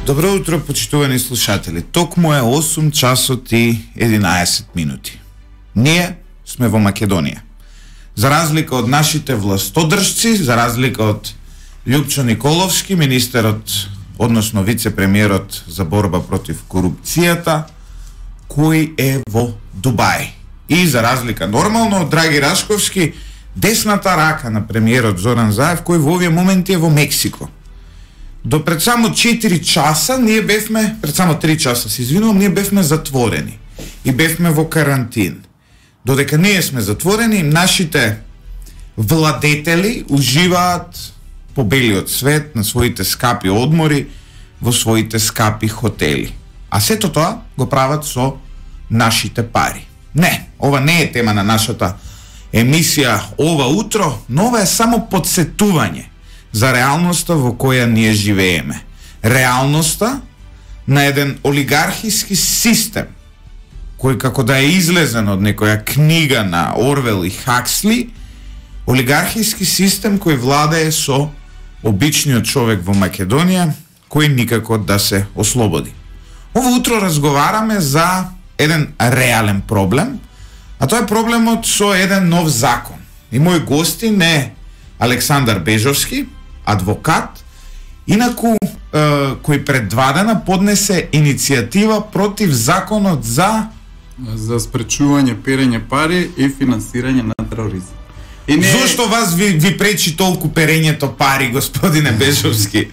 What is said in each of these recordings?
Добро утро, почитувани слушатели. Токму е 8 часот и 11 минути. Ние сме во Македонија. За разлика од нашите властодржци, за разлика од Љупчо Николовски, министерот, односно вице-премиерот за борба против корупцијата, кој е во Дубај. И за разлика нормално од Драги Рашковски, десната рака на премиерот Зоран Заев, кој во овие моменти е во Мексико. До пред само 4 часа ние бевме, пред само 3 часа се извинувам, ние бевме затворени и бевме во карантин. Додека ние сме затворени, нашите владетели уживаат по белиот свет на своите скапи одмори, во своите скапи хотели. А сето тоа го прават со нашите пари. Не, ова не е тема на нашата емисија ова утро, но ова е само подсетување за реалноста во која ние живееме. Реалноста на еден олигархиски систем, кој како да е излезен од некоја книга на Орвел и Хаксли, олигархиски систем кој владее со обичниот човек во Македонија, кој никако да се ослободи. Ово утро разговараме за еден реален проблем, а тоа е проблемот со еден нов закон. И мој гостин е Александар Бежовски, адвокат, инаку кој пред 2 дена поднесе иницијатива против законот за спречување перење пари и финансирање на тероризам. И не... Зошто вас ви пречи толку перењето пари, господине Бежовски?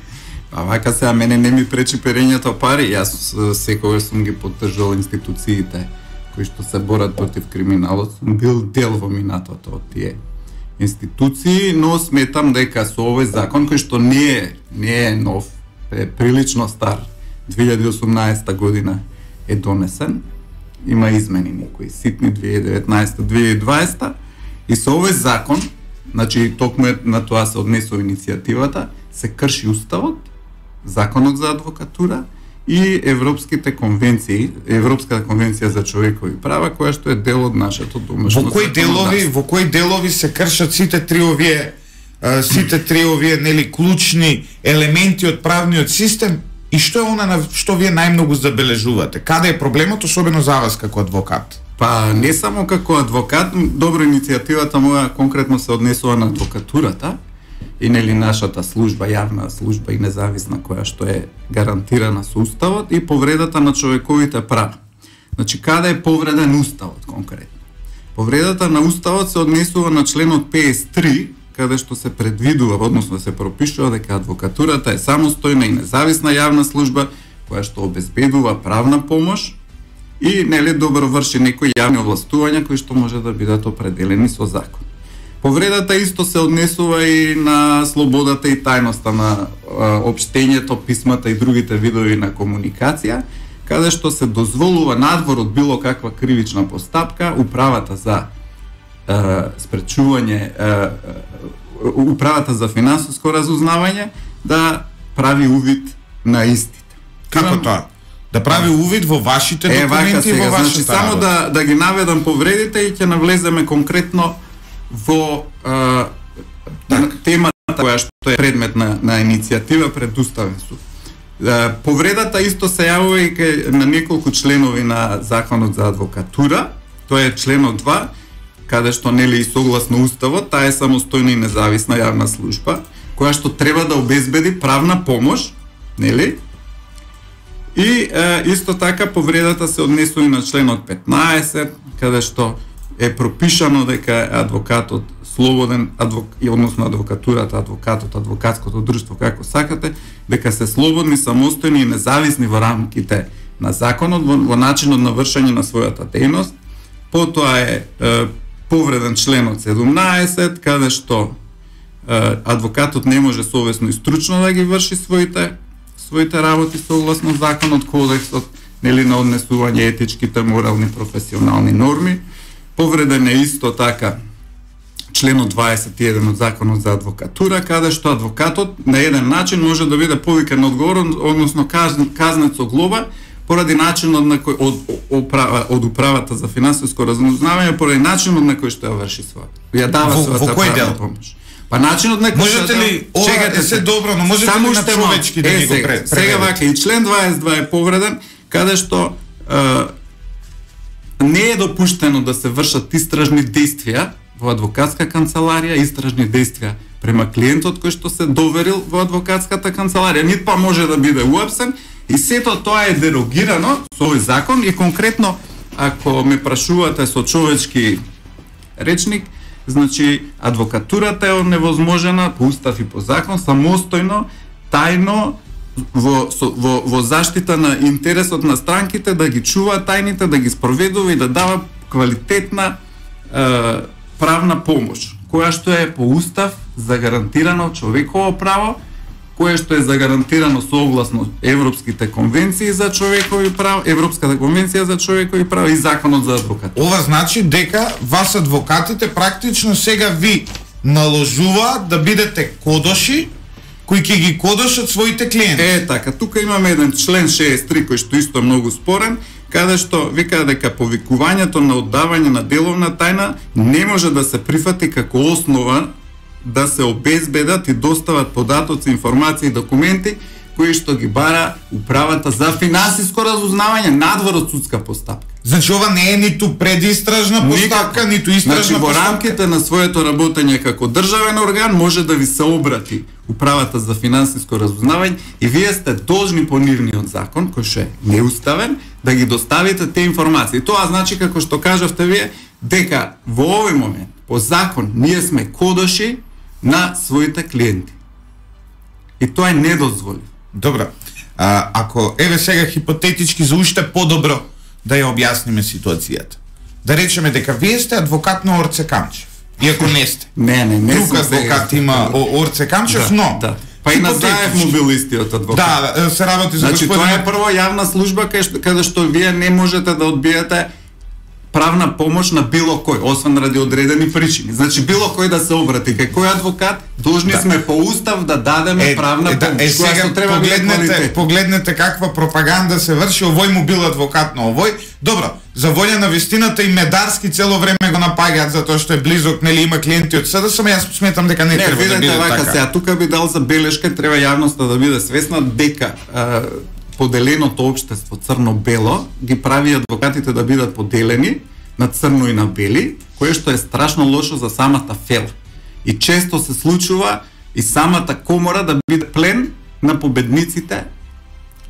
А вака сега мене не ми пречи перењето пари, јас секогаш сум ги поддржал институциите кои што се борат против криминалот, сум бил дел во минатото од тие институции, но сметам дека со овој закон кој што не е нов, е прилично стар, 2018 година е донесен, има измени некои ситни 2019-2020 и со овој закон, значи токму на тоа се однесува иницијативата, се крши уставот, законот за адвокатура и европските конвенции, Европската конвенција за човекови права, која што е дел од нашето домашно законодавство. Во кои делови се кршат сите три овие нели клучни елементи од правниот систем и што е она на што вие најмногу забележувате? Каде е проблемот, особено за вас како адвокат? Па не само како адвокат, добро иницијативата моја конкретно се однесува на адвокатурата и нели нашата служба, јавна служба и независна која што е гарантирана со уставот и повредата на човековите права. Значи каде е повреден уставот конкретно? Повредата на уставот се однесува на членот 53, каде што се предвидува, односно се пропишува дека адвокатурата е самостојна и независна јавна служба која што обезбедува правна помош и нели добро врши некои јавни овластувања кои што може да бидат определени со закон. Повредата исто се однесува и на слободата и тајноста на општењето, писмата и другите видови на комуникација, каде што се дозволува надвор од било каква кривична постапка управата за спречување, управата за финансиско разузнавање да прави увид на истите. Како тоа? Да прави увид во вашите документи и во вашата само да ги наведам повредите и ќе навлеземе конкретно во темата која што е предмет на иницијатива пред Уставен суд. Повредата исто се јавува и на неколку членови на Законот за адвокатура, тоа е членот 2, каде што нели и согласно Уставот, таа е самостојна и независна јавна служба, која што треба да обезбеди правна помош, нели? И исто така повредата се однесува и на членот 15, каде што е пропишано дека адвокатот слободен, односно адвокатурата, адвокатот, адвокатското друштво, како сакате, дека се слободни, самостојни и независни во рамките на законот, во начинот на вршење на својата дејност. Потоа е повреден членот 17, каде што адвокатот не може совесно и стручно да ги врши своите работи согласно законот, кодексот, нели на однесување етичките, морални, професионални норми. Повреден е исто така членот 21 од Законот за адвокатура, каде што адвокатот на еден начин може да биде повикан на одговорност, односно казнет со глоба, поради начинот на кој од управата за финансиско разузнавање, поради начинот на кој што ја врши својата. Ја дава својата правна помош. Па начинот на можете ли ова се добро, но можете ли на човечки да ни го преведете? Сега вака и член 22 е повреден, каде што не е допуштено да се вршат истражни действија во адвокатска канцеларија, истражни действија према клиентот кој што се доверил во адвокатската канцеларија, нит па може да биде уапсен, и сето тоа е дерогирано со овој закон. И конкретно, ако ме прашувате со човечки речник, значи адвокатурата е невозможена по устав и по закон самостојно, тајно, во заштита на интересот на странките, да ги чува тајните, да ги спроведува и да дава квалитетна правна помош, која што е по устав загарантирано човеково право, кое што е загарантирано согласно европските конвенции за човекови права, Европската конвенција за човекови права и законот за адвокат. Ова значи дека вас адвокатите практично сега ви наложуваат да бидете кодоши кои ќе ги кодошат своите клиенти. Така, тука имаме еден член 63 кој што исто е многу спорен, каде што вика дека повикувањето на оддавање на деловна тајна не може да се прифати како основа да се обезбедат и достават податоци, информации и документи кои што ги бара управата за финансиско разузнавање надвор од судска постапка. Значи ова не е ниту предистражна постапка, ниту истражна постапка. Во рамките на своето работење како државен орган може да ви се обрати управата за финансиско разузнавање и вие сте должни по нивниот закон, кој што е неуставен, да ги доставите те информации. Тоа значи, како што кажавте вие, дека во овој момент по закон ние сме кодоши на своите клиенти. И тоа е недозволено. Добро. Ако еве сега хипотетички за уште подобро да ја објасниме ситуацијата. Да речеме дека вие сте адвокат на Орце Камчев. Иако не сте. Не друг адвокат има Орце Камчев, но да. Па и на Заев му бил истиот адвокат. Да, се работи за господин. Тоа е прво јавна служба каде што вие не можете да одбиете правна помош на било кој, освен ради одредени причини. Значи било кој да се обрати кај кој адвокат, должни сме по устав да дадеме правна помош. Сега треба погледнете каква пропаганда се врши, овој му бил адвокат на овој. Добро, за волја на вистината и Медарски цело време го напаѓаат затоа што е близок, нели има клиенти од СДСМ, само јас сметам дека не треба да биде така. Сега тука би дал забелешка, треба јавноста да биде свесна дека поделеното општество црно-бело ги прави адвокатите да бидат поделени на црно и на бели, кое што е страшно лошо за самата фела. И често се случува и самата комора да биде плен на победниците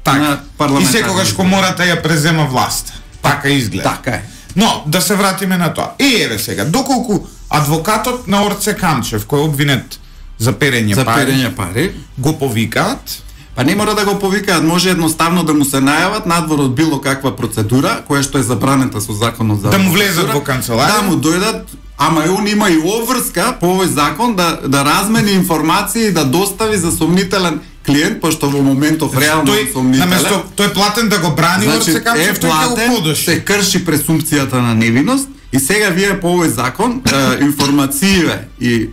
на парламентарни. И секогаш комората ја презема власт. Така изгледа. Така е. Но да се вратиме на тоа. И еве сега, доколку адвокатот на Орце Камчев, кој е обвинет за перење пари, го повикаат, па не мора да го повикаат, може едноставно да му се најават надвор од било каква процедура, која што е забранета со законот за да му влезат во канцеларија, да му дојдат, ама он има и обврска по овој закон да размени информации и да достави за сомнителен клиент, пошто во моментов реално сомнителен. Наместо тој платен да го брани, Орце Камчев, тој го подоши. Се крши пресумпцијата на невиност и сега вие по овој закон информациите и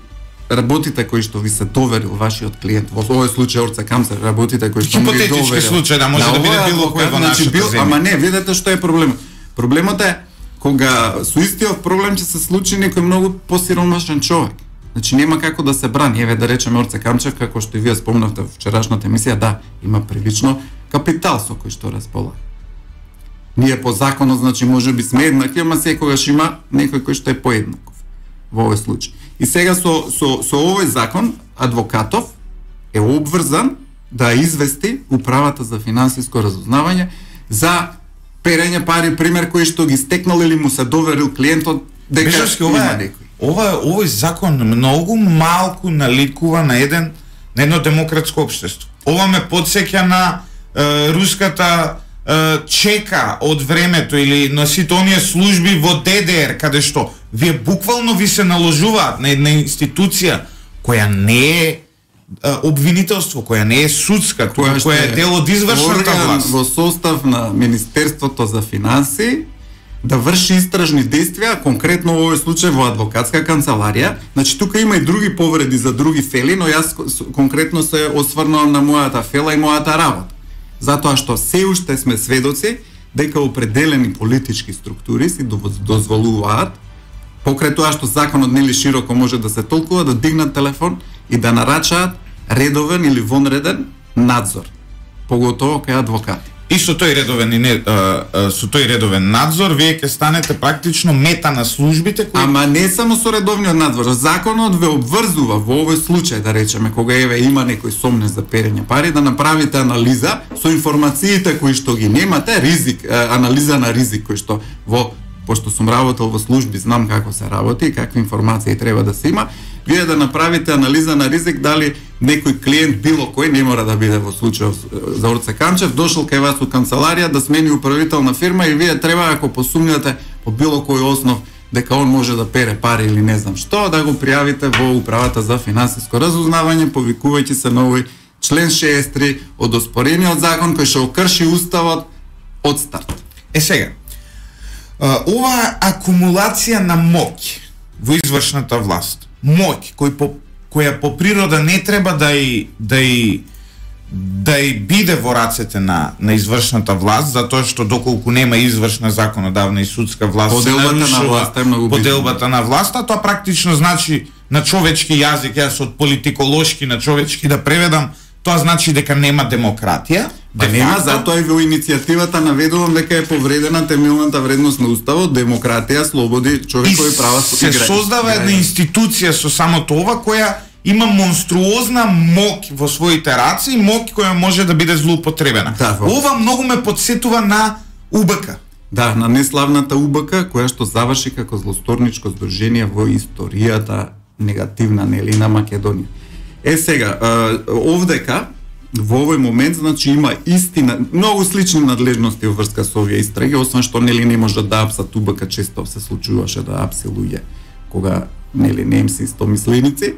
работите кои што ви се доверил вашиот клиент, во овој случај Орце Камчев, работите кои што му ги доверил. Хипотетички случај, да може да биде било кој во нашата земја. Ама не, видете што е проблемот. Проблемот е кога со истиот проблем ќе се случи некој многу посиромашен човек. Значи нема како да се брани. Еве да речеме Орце Камчев, како што и вие спомнавте во вчерашната емисија, да, има прилично капитал со кој што располага. Ние по законот, значи можеби сме еднакви, ама секогаш има некој кој што е поеднаков во овој случај. И сега со овој закон адвокатов е обврзан да извести управата за финансиско разузнавање за перење пари, пример кој што ги стекнал или му се доверил клиентот дека има некој. Овој закон многу малку наликува на едно демократско општество. Ова ме потсеќа на руската чека од времето или на сите оние служби во ДДР, каде што вие буквално ви се наложуваат на една институција која не е обвинителство, која не е судска, која е дел од извршната власт. Во состав на Министерството за финансии да врши истражни действија, конкретно во овој случај во адвокатска канцеларија. Значи тука има и други повреди за други фели, но јас конкретно се осврнувам на мојата фела и мојата работа. Затоа што се уште сме сведоци дека определени политички структури си дозволуваат покрај тоа што законот нели широко може да се толкува, да дигнат телефон и да нарачаат редовен или вонреден надзор, поготово кај адвокати. И со тој редовен надзор вие ќе станете практично мета на службите кои... Ама не само со редовниот надзор, законот ве обврзува во овој случај, да речеме, кога има некој сомне за перење пари, да направите анализа со информациите кои што ги немате, ризик, анализа на ризик кој што пошто сум работел во служби, знам како се работи и какви информации треба да се има, вие да направите анализа на ризик дали некој клиент, било кој, не мора да биде во случај за Орце Камчев, дошол кај вас у канцеларија да смени управител на фирма и вие треба, ако посумњате по било кој основ дека он може да пере пари или не знам што, да го пријавите во Управата за финансиско разузнавање, повикувајќи се на овој член 63 од оспорениот закон кој што крши уставот од старт. Сега, ова акумулација на моќ во извршната власт, моќ која по природа не треба да и биде во рацете на извршната власт, затоа што доколку нема извршна, законодавна и судска власт, поделбата на власта, тоа практично значи на човечки јазик, јас од политиколошки на човечки да преведам, тоа значи дека нема демократија. Нема, затоа и во иницијативата наведувам дека е повредена темелната вредност на уставот, демократија, слободи, човекови права. Се создава една институција со самото ова која има монструозна моќ во своите раце и моќ која може да биде злоупотребена. Ова многу ме потсетува на УБК. Да, на неславната УБК, која што заврши како злосторничко здружение во историјата негативна нели на Македонија. Сега, овдека во овој момент значи има истина, многу слични надлежности во врска со овие истраги, освен што нели не може да апсат УБК, често се случуваше да апси луѓе кога нели немци истомисленици.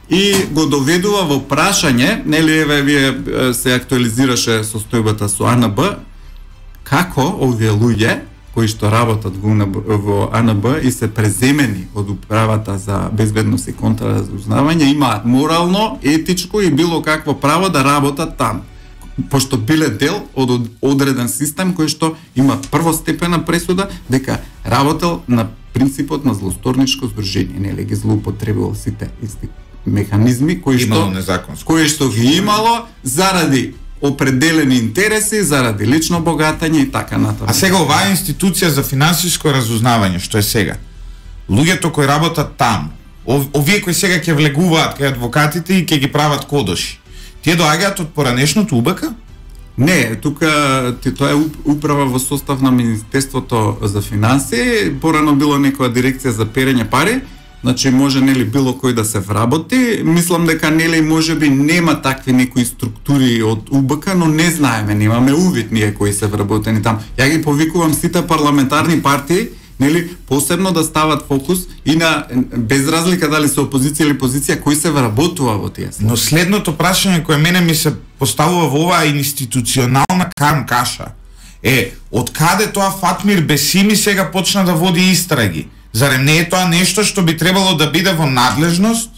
И го доведува во прашање, нели еве вие се актуализираше состојбата со АНБ, како овие луѓе кои што работат во АНБ и се преземени од Управата за безбедност и контраразузнавање имаат морално, етичко и било какво право да работат таму, пошто биле дел од одреден систем кој што има првостепена пресуда дека работел на принципот на злосторничко здружение, нели ги злоупотребувал сите исти механизми кои што ги имало заради определени интереси, заради лично богатање и така натаму. А сега оваа институција за финансиско разузнавање, што е сега, луѓето кои работат таму, овие кои сега ќе влегуваат кај адвокатите и ќе ги прават кодоши, тие доаѓаат од поранешното УБК? Не, тука тоа е управа во состав на Министерството за финансии, порано било некоја дирекција за перење пари, значи може нели било кој да се вработи. Мислам дека нели можеби нема такви некои структури од УБК, но не знаеме, немаме увид ние кои се вработени таму. Ја ги повикувам сите парламентарни партии, нели посебно да стават фокус и на без разлика дали се опозиција или позиција кои се вработува во тие. Но следното прашање кое мене ми се поставува во оваа институционална каша е од каде тоа Фатмир Бесими сега почна да води истраги? Зарем не е тоа нешто што би требало да биде во надлежност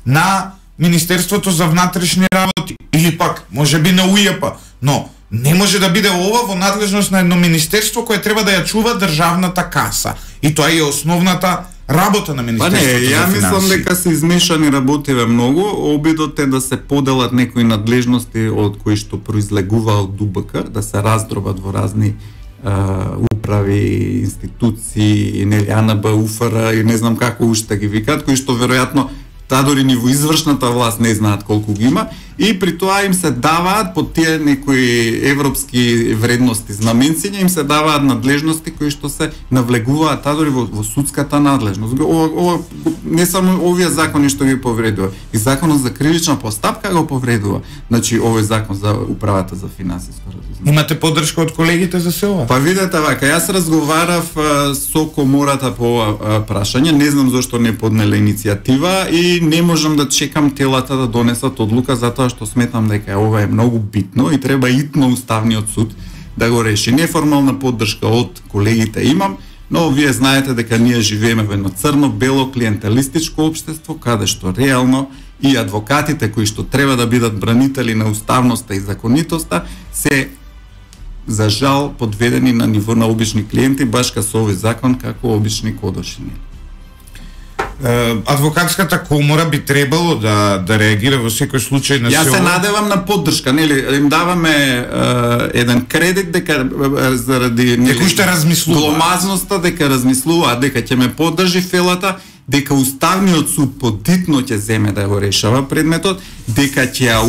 на Министерството за внатрешни работи или пак можеби на УЈП, но не може да биде ова во надлежност на едно министерство кое треба да ја чува државната каса. И тоа е основната работа на Министерството за финансии. Ја мислам дека се измешани работиве многу, обидот е да се поделат некои надлежности од кои што произлегува од УБК, да се раздробат во разни управи, институции, нели АНБ, УФР и не знам како уште ги викаат, кои што веројатно дори ни во извршната власт не знаат колку ги има, и при тоа им се даваат под тие некои европски вредности, знаменциња, им се даваат надлежности кои што се навлегуваат дори во судската надлежност. Не само овие закони што ги повредува, и законот за кривична постапка го повредува. Значи овој закон за Управата за финансиско разузнавање. Имате поддршка од колегите за се ова? Па видете вака, јас разговарав со комората по ова прашање, не знам зошто не поднеле иницијатива и не можам да чекам телата да донесат одлука, затоа што сметам дека ова е многу битно и треба итно Уставниот суд да го реши. Неформална поддршка од колегите имам, но вие знаете дека ние живееме во едно црно-бело клиентелистичко општество, каде што реално и адвокатите кои што треба да бидат бранители на уставноста и законитоста се за жал подведени на ниво на обични клиенти, баш ка со овој закон како обични кодошини. Адвокатската комора би требало да реагира во секој случај на Јас се надевам на поддршка, нели, им даваме еден кредит дека заради некој што размислува. Гломазноста дека размислува, дека ќе ме поддржи фелата, дека Уставниот суд подитно ќе земе да го решава предметот, дека ќе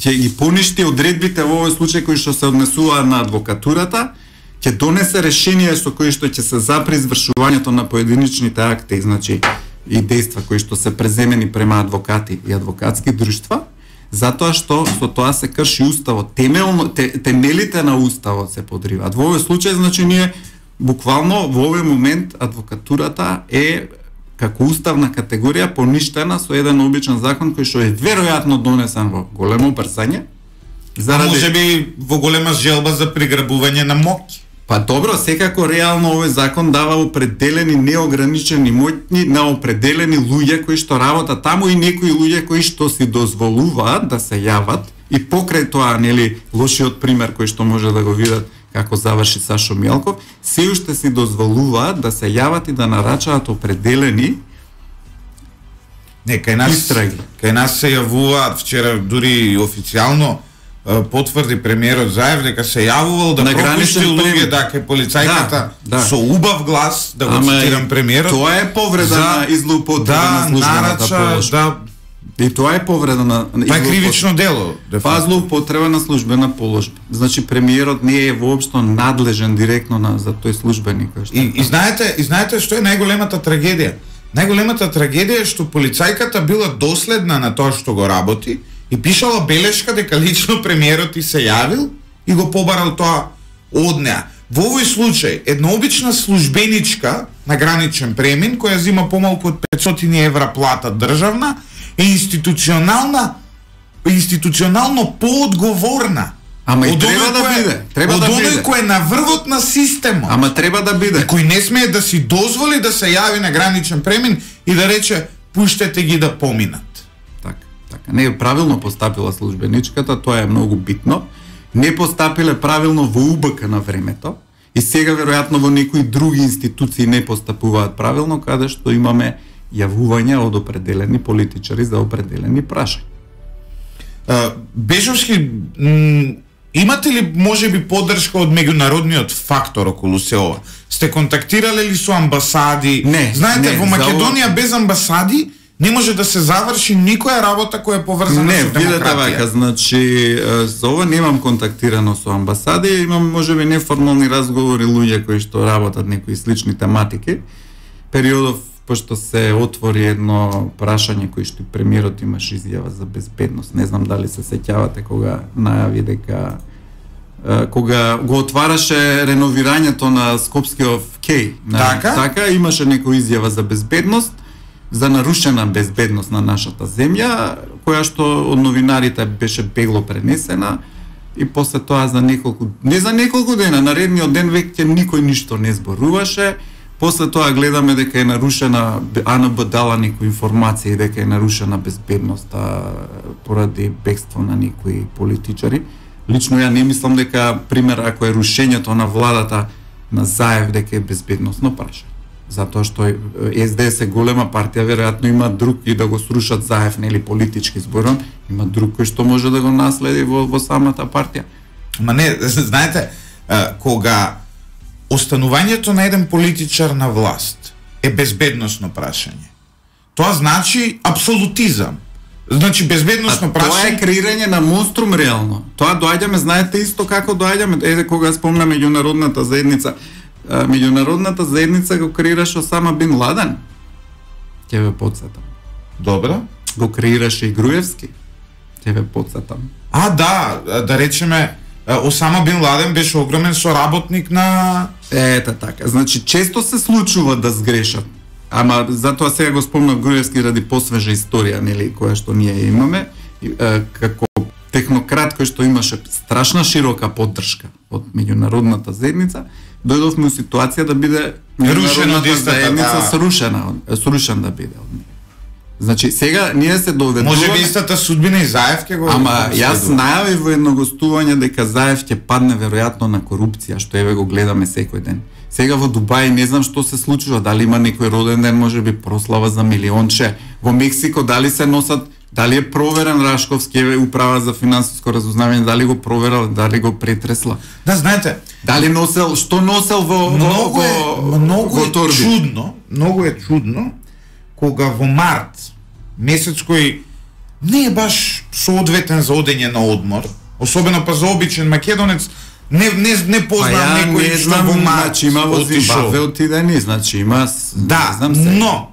ги поништи одредбите во овој случај кои што се однесуваат на адвокатурата, ќе донесе решение со кои што ќе се запре извршувањето на поединичните акти, значи и дејства кои што се преземени према адвокати и адвокатски друштва, затоа што со тоа се крши уставот, темелите на уставот се подриваат. Во овој случај, значи, ние буквално во овој момент адвокатурата е како уставна категорија поништена со еден обичен закон кој што е веројатно донесен во големо брзање. Можеби во голема желба за приграбување на моќ. Па добро, секако реално овој закон дава определени неограничени моќни на определени луѓе кои што работат таму и некои луѓе кои што си дозволуваат да се јават и покрај тоа, нели, лошиот пример кој што може да го видат како заврши Сашо Мелков, се уште си дозволуваат да се јават и да нарачаат определени истраги. Кај нас се јавуваат, вчера дури официјално потврди премиерот Заев дека се јавувал да пропушти луѓе, кај полицајката со убав глас, да го цитирам премиерот. Тоа е повреда на излоупотреба на службената положба. И тоа е повреда на тоа е кривично дело. Злоупотреба на службена положба. Значи премиерот не е воопшто надлежен директно за тој службеник. И знаете што е најголемата трагедија? Најголемата трагедија е што полицајката била доследна на тоа што го работи и пишала белешка дека лично премиерот и се јавил и го побарал тоа од неа. Во овој случај, една обична службеничка на граничен премин, која зима помалку од 500 евра плата државна, е институционално поодговорна. Ама и треба да биде. Од оној кој е на врвот на системот. Ама треба да биде. И кој не смее да си дозволи да се јави на граничен премин и да рече пуштете ги да поминат. Така. Не е правилно постапила службеничката, тоа е многу битно. Не постапиле правилно во УБК на времето и сега веројатно во некои други институции не постапуваат правилно, каде што имаме јавувања од определени политичари за определени прашања. Бежовски, имате ли можеби поддршка од меѓународниот фактор околу се ова? Сте контактирале ли со амбасади? Не. Знаете, во Македонија без амбасади не може да се заврши никоја работа која е поврзана со демократија. Не, видете вака, значи за ова немам контактирано со амбасади, имам можеби неформални разговори луѓе кои што работат некои слични тематики. Периодов пошто се отвори едно прашање кој што премиерот имаш изјава за безбедност. Не знам дали се сеќавате кога најави дека кога го отвараше реновирањето на Скопскиот кеј. Така имаше некоја изјава за безбедност, за нарушена безбедност на нашата земја, која што од новинарите беше бегло пренесена и после тоа за неколку дена, наредниот ден веќе никој ништо не зборуваше. После тоа гледаме дека е нарушена, АНБ дала некои информации дека е нарушена безбедноста поради бегство на некои политичари. Лично ја не мислам дека, пример, ако е рушењето на владата на Заев, дека е безбедносно прашање. Затоа што СДС е голема партија, веројатно има друг и да го срушат Заев, нели политички зборам, има друг кој што може да го наследи во самата партија. Ма не, знаете, кога останувањето на еден политичар на власт е безбедносно прашање, тоа значи апсолутизам. Значи безбедносно прашање. Тоа е креирање на монструм реално. Тоа доаѓаме, знаете исто како доаѓаме, кога спомна меѓународната заедница. Меѓународната заедница го креираше Осама Бин Ладен. Ќе ве потсетам. Добро. Го креираше и Груевски. Ќе ве потсетам. Да речеме, Осама Бин Ладен беше огромен соработник на... Ета така. Значи, често се случува да сгрешат. Ама затоа сега го спомнав Груевски ради посвежа историја, нели, која што ние имаме. Како технократ кој што имаше страшна широка поддршка од меѓународната заедница, дојдовме у ситуација да биде меѓународната заедница срушен да биде од неја. Значи, сега ние се доведуваме... Може би истата судбина и Заев ќе го... Ама, јас најавив во едно гостување дека Заев ќе падне веројатно на корупција, што еве го гледаме секој ден. Сега во Дубај не знам што се случува, дали има некој роден ден, можеби прослава за милионче. Во Мексико дали се носат, дали е проверен Рашковски управа за финансиско разузнавање, дали го проверал, дали го претресла. Да, знаете, дали носел, што носел во торби? Многу е чудно кога во март месец кој не е баш соодветен за одење на одмор, особено па за обичен македонец, не познам некој што во март значи, има во Зимбабве отидени, значи има да, но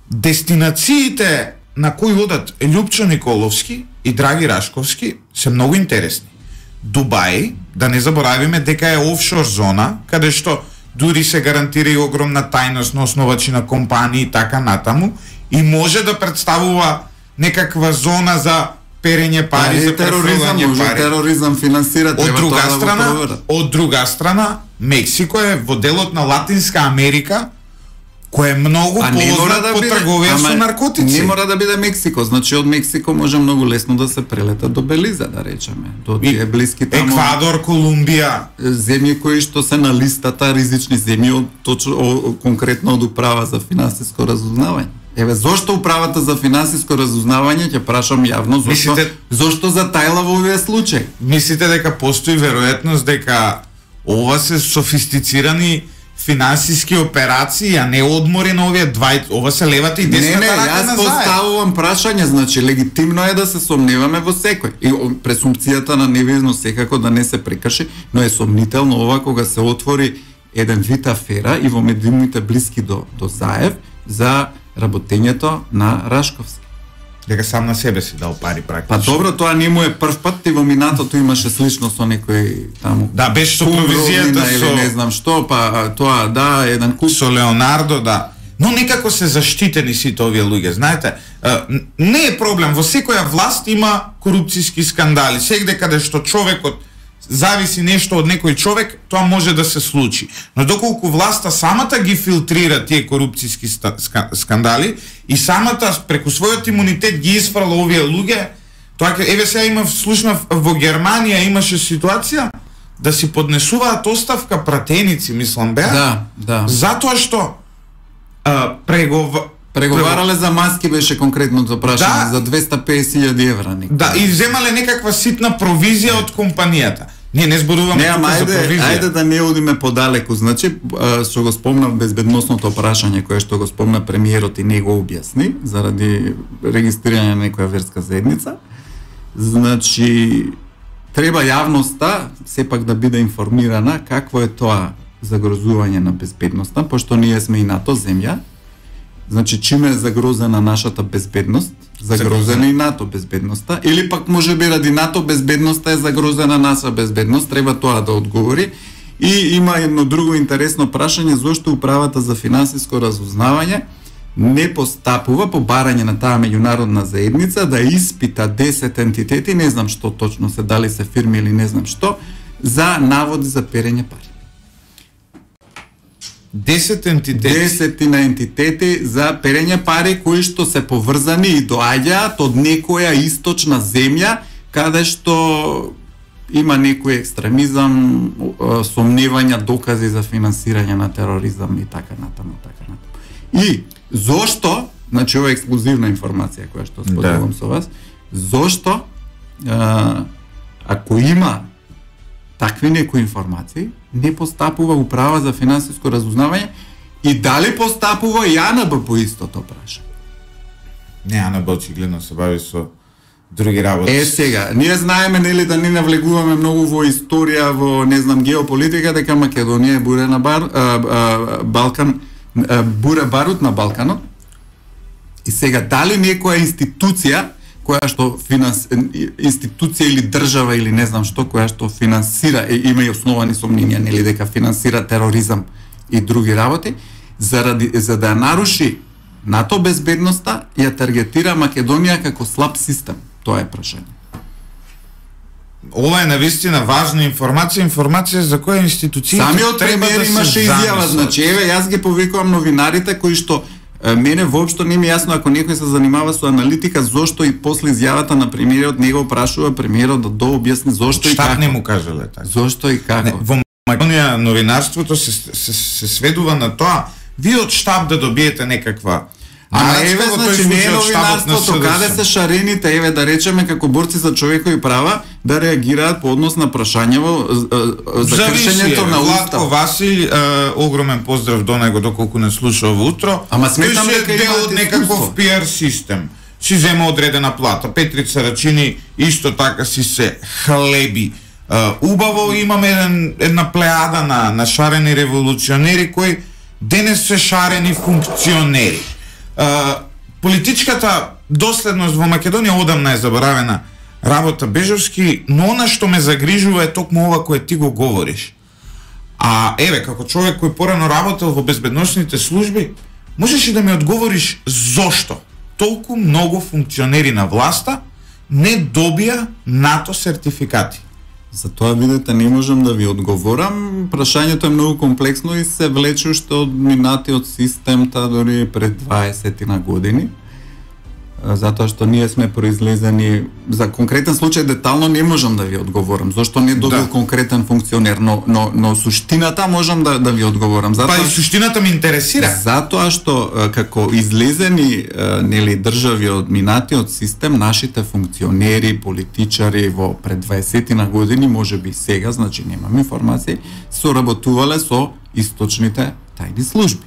дестинациите на кои одат Љупчо Николовски и Драги Рашковски се многу интересни. Дубај, да не заборавиме дека е офшор зона, каде што дури се гарантира и огромна тајност на основачи на компании и така натаму, и може да представува некаква зона за перење пари, за тероризам, пари. Тероризам финансира, треба тоа да го проверат. Од друга страна, Мексико е во делот на Латинска Америка, кој е многу познат по трговија со наркотици. Не мора да биде Мексико, значи од Мексико може многу лесно да се прелета до Белиза, да речеме, до тие блиски таму. Еквадор, Колумбија, земји кои што се на листата ризични земји од конкретно од управа за финансиско разузнавање. Еве, зошто управата за финансиско разузнавање, ќе прашам јавно, зошто затајла во овие случаи? Мислите дека постои веројатност дека ова се софистицирани финансиски операции, а не одмори на овие ова се левата и десната рака на заед. Јас поставувам прашање, значи легитимно е да се сомневаме во секој. И пресумпцијата на невиновност секако да не се прекрши, но е сомнително ова кога се отвори еден вид афера и во медиумите блиски до Заев за работењето на Рашковски. Дека сам на себе си дал пари практично. Па добро, тоа не му е прв пат, и во минатото имаше слично со некој таму. Да, беше со провизијата со не знам што, па тоа да, еден куп со Леонардо, да. Но некако се заштитени сите овие луѓе, знаете. Не е проблем, во секоја власт има корупцијски скандали. Сегде каде што човекот зависи нешто од некој човек, тоа може да се случи. Но доколку власта самата ги филтрира тие корупцијски скандали и самата преку својот имунитет ги испрала овие луѓе, тоа еве сега слушнав во Германија имаше ситуација да си поднесуваат оставка пратеници, мислам беа. Да. Затоа што преговарале за маски, беше конкретното прашање, за 250.000 евра. Да, и земале некаква ситна провизија од компанијата. Ние не зборуваме тука за провизија. Ајде да не одиме подалеку. Значи, што го спомнав безбедносното прашање кое што го спомна премиерот и не го објасни заради регистрирање на некоја верска заедница. Значи, треба јавноста сепак да биде информирана какво е тоа загрозување на безбедноста, пошто ние сме и НАТО земја. Значи, чиме е загрозена нашата безбедност, загрозена и НАТО безбедноста, или пак може би ради НАТО безбедноста е загрозена наша безбедност, треба тоа да одговори. И има едно друго интересно прашање, зошто управата за финансиско разузнавање не постапува по барање на таа меѓународна заедница да испита 10 ентитети, не знам што точно се, дали се фирми или не знам што, за наводи за перење пари. 10 ентитети. 10 ентитети за перење пари кои што се поврзани и доаѓаат од некоја источна земја каде што има некој екстремизам, сомневања, докази за финансирање на тероризам и така натаму. И зошто, значи ова е ексклузивна информација која што споделувам со вас, зошто ако има такви некои информации, не постапува управа за финансиско разузнавање и дали постапува и АНБ по истото прашање? Не, АНБ очигледно се бави со други работи. Сега, ние знаеме нели да не навлегуваме многу во историја, во не знам геополитика, дека Македонија е буре на Балкан, буре барут на Балканот. И сега дали некоја институција која што институција или држава или не знам што, која што финансира, има и основани сомненија нели дека финансира тероризам и други работи, за да наруши НАТО безбедноста, ја таргетира Македонија како слаб систем. Тоа е прашање. Ова е навистина важна информација за која институција самиот премиер имаше изјава, значи еве јас ги повикувам новинарите кои што мене воопшто не ми јасно ако некој се занимава со аналитика зошто и после изјавата на премиерот него прашува премиерот да дообјасни зошто и како. Штат не му кажале така. Зошто и како. Македонија новинарството се сведува на тоа вие од штаб да добиете некаква. Еве, значи, не е новинарството, каде се шарените, еве, да речеме, како борци за човекови права, да реагираат по однос на прашањево за кршењето на Устав. Владко Васил, огромен поздрав до него, доколку не слуша ово утро. Ама сметам дека е дел од некаков PR систем. Си зема одредена плата. Петрица Рачини исто така си се хлеби. Убаво имаме една плеада на шарени револуционери кои денес се шарени функционери. Политичката доследност во Македонија одамна е заборавена работа Бежовски, но она што ме загрижува е токму ова кое ти го говориш. Еве, како човек кој порано работел во безбедносните служби, можеш и да ми одговориш зошто толку многу функционери на власта не добија НАТО сертификати? За тоа, видите, не можам да ви одговорам. Прашањето е многу комплексно и се влече уште од минатиот системта дори пред 20 на години. Затоа што ние сме произлезени за конкретен случај детално не можам да ви одговорам. Зошто не добил конкретен функционер, но суштината можам да ви одговорам. Затоа и суштината ме интересира. Затоа што како излезени држави од минатиот систем, нашите функционери, политичари во пред 20 на години, можеби сега, значи немам информации, соработувале со источните тајни служби,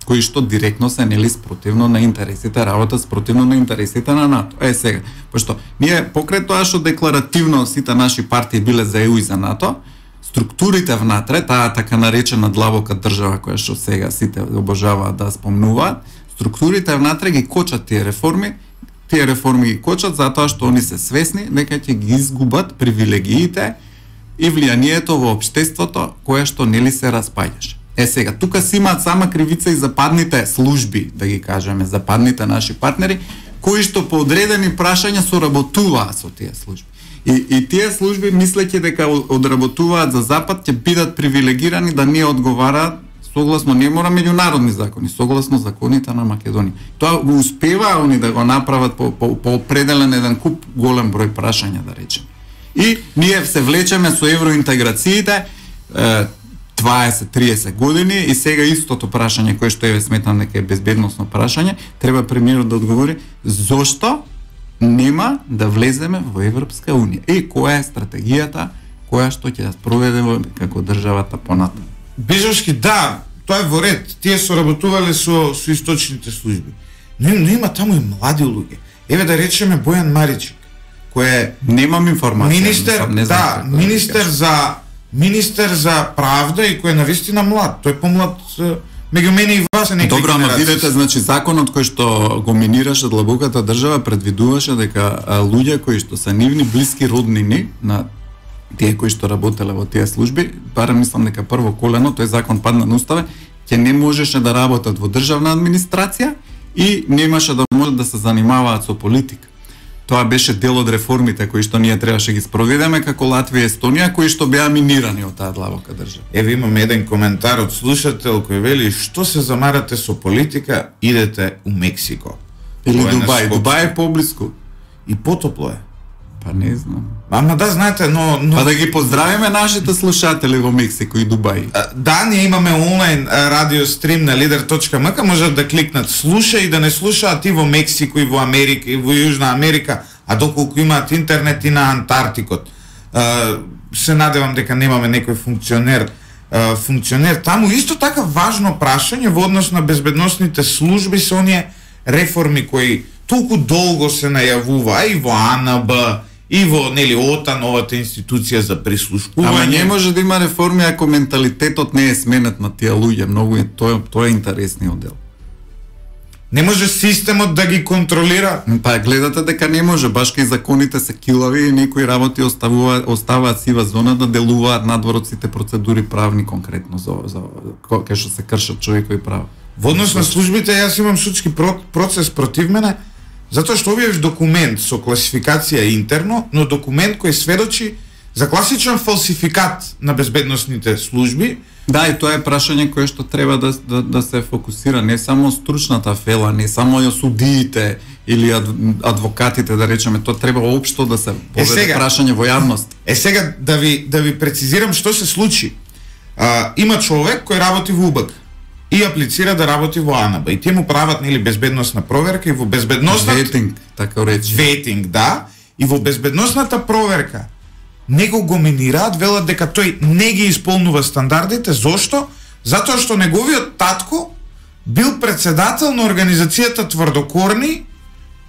кои што директно се спротивно на интересите, работа спротивно на интересите на НАТО. Сега, пошто ние покрај тоа што декларативно сите наши партии биле за ЕУ и за НАТО, структурите внатре, таа така наречена длабока држава која што сега сите обожаваат да спомнуваат, структурите внатре ги кочат тие реформи ги кочат затоа што они се свесни дека ќе ги изгубат привилегиите и влијанието во општеството кое што се распаѓаше. Сега, тука си имаат сама кривица и западните служби, да ги кажеме, западните наши партнери, кои што по одредени прашања соработуваат со тие служби. И тие служби, мислејќи дека одработуваат за Запад, ќе бидат привилегирани да не одговараат согласно, не мора меѓународни закони, согласно законите на Македонија. Тоа го успеваа они да го направат по определен еден куп голем број прашања, да речеме. И ние се влечеме со евроинтеграциите, 20-30 години и сега истото прашање кое што сметам дека е безбедносно прашање, треба премиерот да одговори зошто нема да влеземе во Европска унија и која е стратегијата која што ќе ја спроведеме како државата понатаму. Бежовски, да, тоа е во ред. Тие соработувале со источните служби. Но има таму и млади луѓе. Еве да речеме Бојан Маричик, кој е немам информација, министер за правда и кој е навистина млад. Тој помлад меѓу мене и вас е некој. Добро, ама видете, значи законот кој што го минираше длабоката држава предвидуваше дека луѓе кои што се нивни блиски роднини на тие кои што работеле во тие служби, барем мислам дека прво колено, тој закон падна на уставе, ќе не можеше да работат во државна администрација и немаше да може да се занимаваат со политика. Тоа беше дел од реформите кои што ние требаше ги спроведеме како Латвија и Естонија, кои што беа минирани од таа длабока држава. Еве имаме еден коментар од слушател кој вели: "Што се замарате со политика, идете у Мексико." Или Дубај. Дубај е поблиску. И потопло е. Па не знам. Ама да, знаете, но... Па да ги поздравиме нашите слушатели во Мексико и Дубај. Да, ние имаме онлайн радиострим на lider.mk, можат да кликнат слуша и да не слушаат и во Мексико, и во Америка, и во Јужна Америка, а доколку имаат интернет и на Антарктикот. Се надевам дека немаме некој функционер таму. Исто така важно прашање во однос на безбедносните служби се оние реформи кои толку долго се најавува и во АНБ, и во ОТА, новата институција за прислушкување. Ама не може да има реформи ако менталитетот не е сменет на тие луѓе, многу е тоа е интересниот дел. Не може системот да ги контролира? Па гледате дека не може, баш кај законите се килави и некои работи оставаат сива зона да делуваат надвор од сите процедури правни конкретно за кај што се кршат човекови права. Во однос на службите јас имам судски процес против мене, затоа што објавив документ со класификација интерно, но документ кој сведочи за класичен фалсификат на безбедносните служби. Да, и тоа е прашање кое што треба да се фокусира, не само стручната фела, не само судиите или адвокатите, да речеме, тоа треба општо да се поведе прашање во јавност. Сега да ви прецизирам што се случи. Има човек кој работи во УБК и аплицира да работи во АНБ и тие му прават нели безбедносна проверка и во безбедносната ветинг, така речи. Ветинг, да, и во безбедносната проверка него го минираат, велат дека тој не ги исполнува стандардите. Зошто? Затоа што неговиот татко бил председател на организацијата Тврдокорни,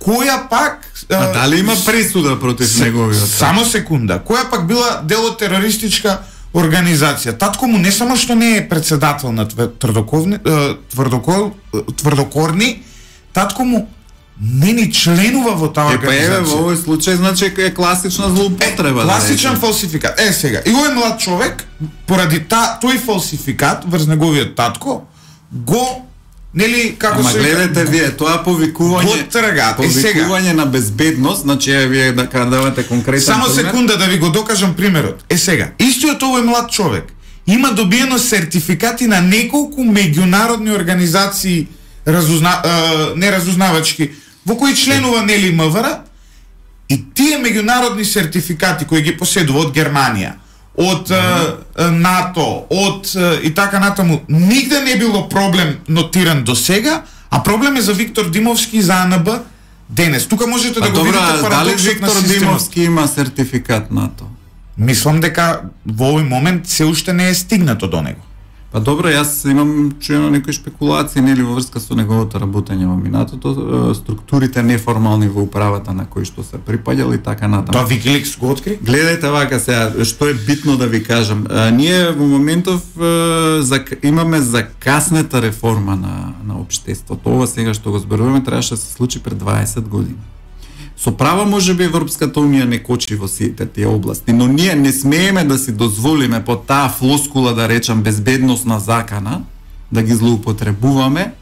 која пак дали има пресуда против неговиот? Само секунда. Која пак била дел од терористичка организација. Татко му не само што не е председател на Тврдокорни, татко му не ни членува во таа организација. Во овој случај значи е класична злоупотреба. Класичен фалсификат. Сега, и овој млад човек поради тој фалсификат врз неговиот татко го нели како се гледате вие тоа повикување на безбедност, значи вие да давате конкретен само пример. Секунда да ви го докажам примерот. Сега, истиот овој млад човек има добиено сертификати на неколку меѓународни организации неразузнавачки во кои членува нели МВР, и тие меѓународни сертификати кои ги поседува од Германија, од НАТО, од и така натаму, нигде не било проблем нотиран до сега, а проблем е за Виктор Димовски и за АНБ денес. Тука можете да го видите парадоксот на системот. Виктор Димовски има сертификат НАТО? Мислам дека во овој момент се уште не е стигнато до него. Па добро, јас имам чуено некои шпекулации нели во врска со неговото работење во минатото, структурите неформални во управата на кои што се припаѓали така натаму. Тоа Викиликс го откри? Гледајте вака сега, што е битно да ви кажам. Ние во моментов имаме закаснета реформа на општеството. Ова сега што го зборуваме требаше да се случи пред 20 години. Со право можеби Европската унија не кочи во сите тие области, но ние не смееме да си дозволиме по таа флоскула да речам безбедносна закана да ги злоупотребуваме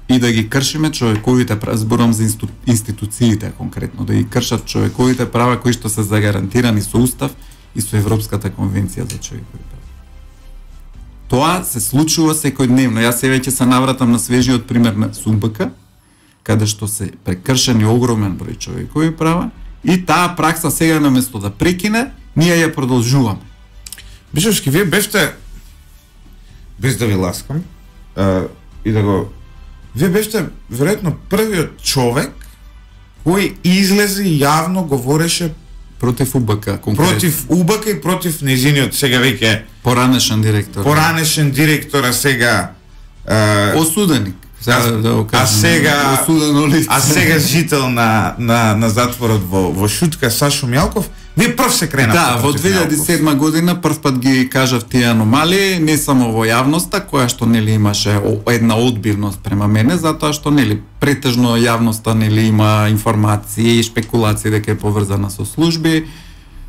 и да ги кршиме човековите права, зборам за институциите конкретно, да ги кршат човековите права кои што се загарантирани со Устав и со Европската конвенција за човекови права. Тоа се случува секојдневно. Јас се веќе се навратам на свежиот пример на СУБК, каде што се прекршени огромен број човекови права и таа пракса сега наместо да прекине, ние ја продолжуваме. Бишевски, вие бевте, без да ви ласкам, и да го... Вие бевте, веројатно, првиот човек кој излезе и јавно говореше против УБК, конкретно. Против УБК и против незиниот сега веќе поранешен директор. Поранешен директор, а сега осуденик. А сега жител на затворот во Шутка Сашо Мјалков, вие прв се кренавте. Да, во 2007 година прв пат ги кажав тие аномалии, не само во јавноста, која што нели имаше една одбивност према мене, затоа што нели претежно јавноста нели има информации и шпекулации дека е поврзана со служби.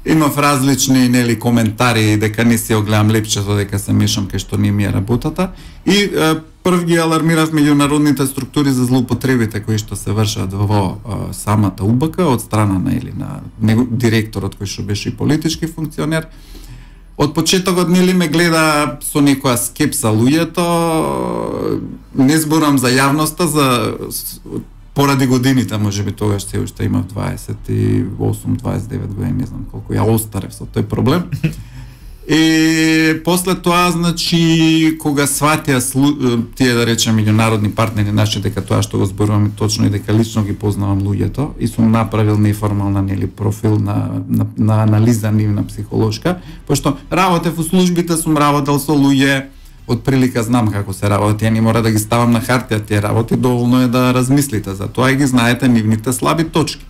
Имав различни нели коментари дека не си огледам лепчето, дека се мешам кај што не ми е работата и прв ги алармирав меѓународните структури за злоупотребите кои што се вршат во самата УБК од страна на директорот кој што беше и политички функционер. Од почетокот нели ме гледа со некоја скепса луѓето, не зборам за јавноста, поради годините, можеби тогаш се уште имав 28-29 години, не знам колку ја остарев со тој проблем. И после тоа, значи, кога сватија тие, да речем, меѓународни партнери наши, дека тоа што го зборуваме точно и дека лично ги познавам луѓето, и сум направил неформална нели профил на анализа нивна психолошка, пошто работев во службите, сум работел со луѓе, од прилика знам како се работи, ја не мора да ги ставам на хартија тие работи, доволно е да размислите за тоа и ги знаете нивните слаби точки.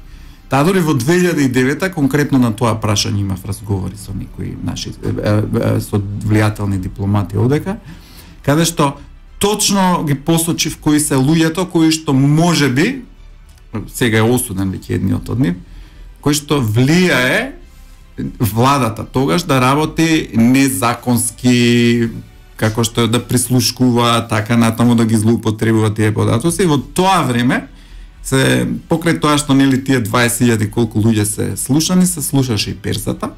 Таа дори во 2009 конкретно на тоа прашање имав разговори со некои наши со влијателни дипломати одека, каде што точно ги посочив кои се луѓето кои што можеби сега е осуден веќе едниот од нив, кои што влијае владата тогаш да работи незаконски, како што да прислушкува, така натаму да ги злоупотребува тие податоци. И во тоа време се покрај тоа што нели тие 20.000 колку луѓе се слушани, се слушаше и персата.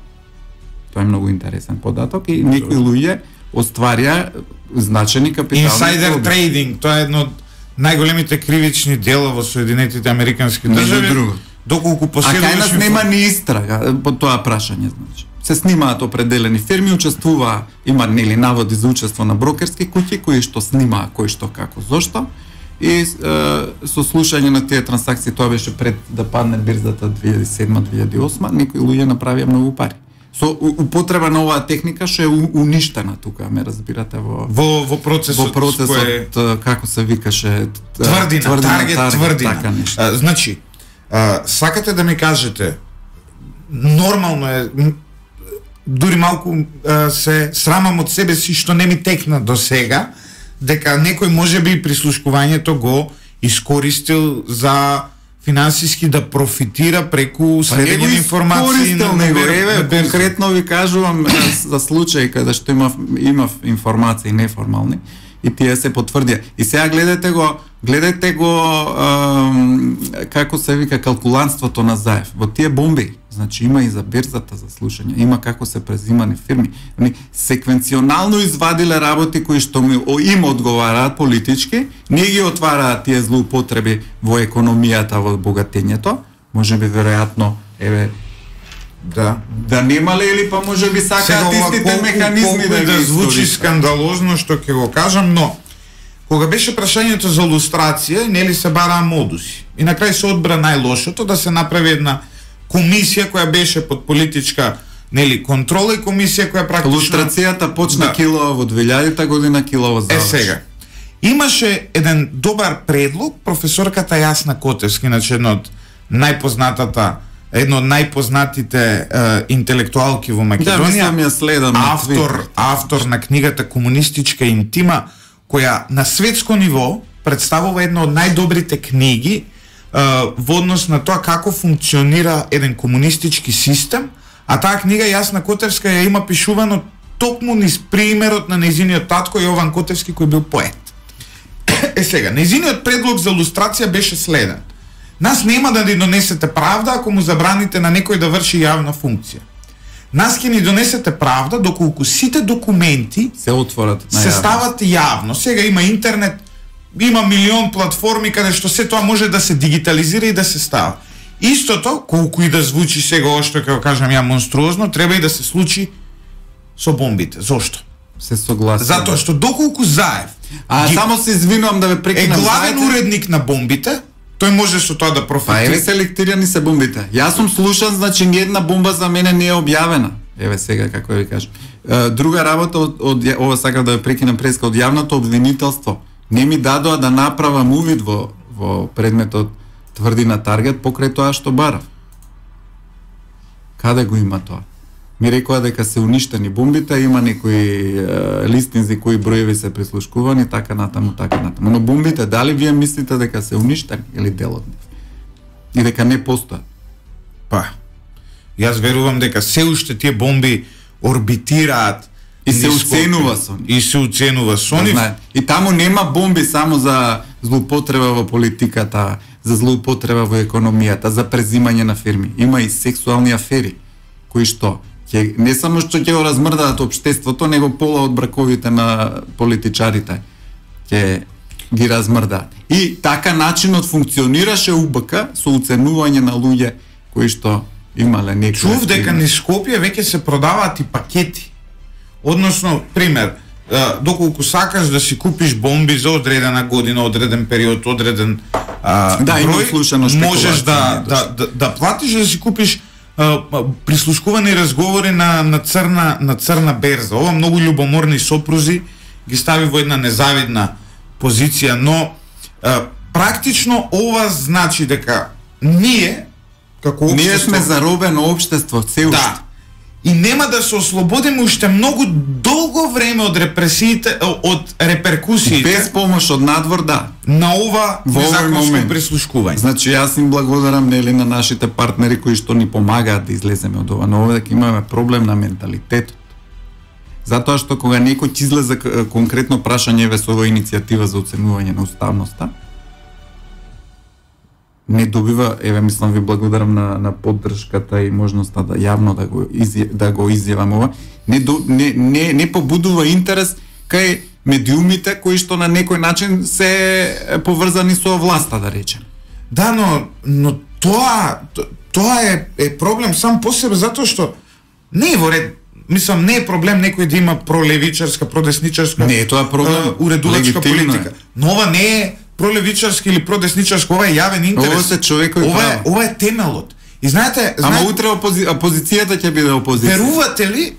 Тоа е многу интересен податок и некои луѓе остварија значени капитални инсайдер трейдинг, тоа е едно од најголемите кривични дела во Соединетите Американски држави. Доколку поседуваш... А кај нас нема ни истрага по тоа прашање, значи. се снимаат определени фирми, учествува, има нели наводи за учество на брокерски куќи кои што снимаа кој што како зошто. И со слушање на тие трансакции, тоа беше пред да падне бирзата 2007-2008, некои луѓе направија многу пари. Со употреба на оваа техника што е уништена тука, ме разбирате, во процесот како се викаше тврдина, таргет тврдина. Така Значи, сакате да ми кажете, нормално е, дури малку се срамам од себе си што не ми текна до сега, дека некој можеби прислушкувањето го искористил за финансиски да профитира преку следење на информации на конкретно ви кажувам за случаи каде што имав информации неформални и тие се потврдија. И сега гледате го како се вика калкулантството на Заев. Во тие бомби, значи има и за берзата за слушање, има како се презимани фирми. Они секвенционално извадиле работи кои што им одговараат политички, не ги отвараат тие злоупотреби во економијата, во богатењето, можеби веројатно да немале или па можеби сакаат истите механизми да звучи скандалозно што ќе го кажам, но кога беше прашањето за лустрација, нели се бараа модуси. И на крај се одбра најлошото да се направи една комисија која беше под политичка контрола и комисија која практично лустрацијата почна килова во 2000-та година, килова заврши. Сега. Имаше еден добар предлог професорката Јасна Котевски, значи едно од најпознатите интелектуалки во Македонија. Автор на книгата Комунистичка интима, која на светско ниво представува една од најдобрите книги во однос на тоа како функционира еден комунистички систем, а таа книга Јасна Котевска ја има пишувано токму низ примерот на нејзиниот татко Јован Котевски кој бил поет. Сега, нејзиниот предлог за лустрација беше следен. Нас нема да ни донесете правда ако му забраните на некој да врши јавна функција. Нас ќе ни донесете правда доколку сите документи се отворат, се стават јавно. Сега има интернет, има милион платформи каде што се тоа може да се дигитализира и да се става. Истото, колку и да звучи сега ова што ќе го кажам ја монструозно, треба и да се случи со бомбите. Зошто? Се согласувам. Затоа што доколку Заев само се извинувам да ве прекинам, е главен уредник на бомбите, тој може со тоа да профитира. Еве селектирани се бомбите. Јас сум слушан, значи ни една бомба за мене не е објавена. Еве сега како ви кажам. Друга работа од ова сакам да ве прекинам преска од јавното обвинителство. Не ми дадоа да направам увид во предметот тврдина таргет покрај тоа што барав. Каде го има тоа? Ми рекоа дека се уништени бомбите, има некои листинзи кои броеви се прислушкувани, така натаму. Но бомбите, дали вие мислите дека се уништени или дел од нив? И дека не постојат? Па, јас верувам дека се уште тие бомби орбитираат и се уценува со нив. И таму нема бомби само за злоупотреба во политиката, за злоупотреба во економијата, за презимање на фирми. Има и сексуални афери кои што не само што ќе го размрдаат општеството, него пола од браковите на политичарите ќе ги размрдаат. И така начинот функционираше УБК со уценување на луѓе кои што имале некои. Чув дека низ Скопје веќе се продаваат и пакети. Односно, пример, доколку сакаш да си купиш бомби за одредена година, одреден период, одреден број, можеш да платиш да си купиш прислушкувани разговори на црна берза. Ова многу љубоморни сопрузи ги стави во една незавидна позиција, но практично ова значи дека ние како општество, ние сме заробено општество се уште. Да. И нема да се ослободиме уште многу долго време од репресиите, од реперкусиите. Без помош од надвор, да. На ова незаконско прислушкување. Значи јас им благодарам на нашите партнери кои што ни помагаат да излеземе од ова, но овде имаме проблем на менталитетот. Затоа што кога некој ќе излезе конкретно прашање со ова иницијатива за оценување на уставноста, не добива, мислам ви благодарам на поддршката и можноста да јавно да го изјавам ова, не побудува интерес кај медиумите кои што на некој начин се поврзани со власта, да речем. Да, но тоа е проблем сам по себе, затоа што Не е во ред. Мислам, не е проблем некој да има пролевичарска, продесничарска не е тоа проблем, уредувачка политика. Но ова не е пролевичарски или продесничарска, ова е јавен интерес. Ова се човекови права. Ова е темелот. И знаете, ама утре опозицијата ќе биде опозиција. Верувате ли,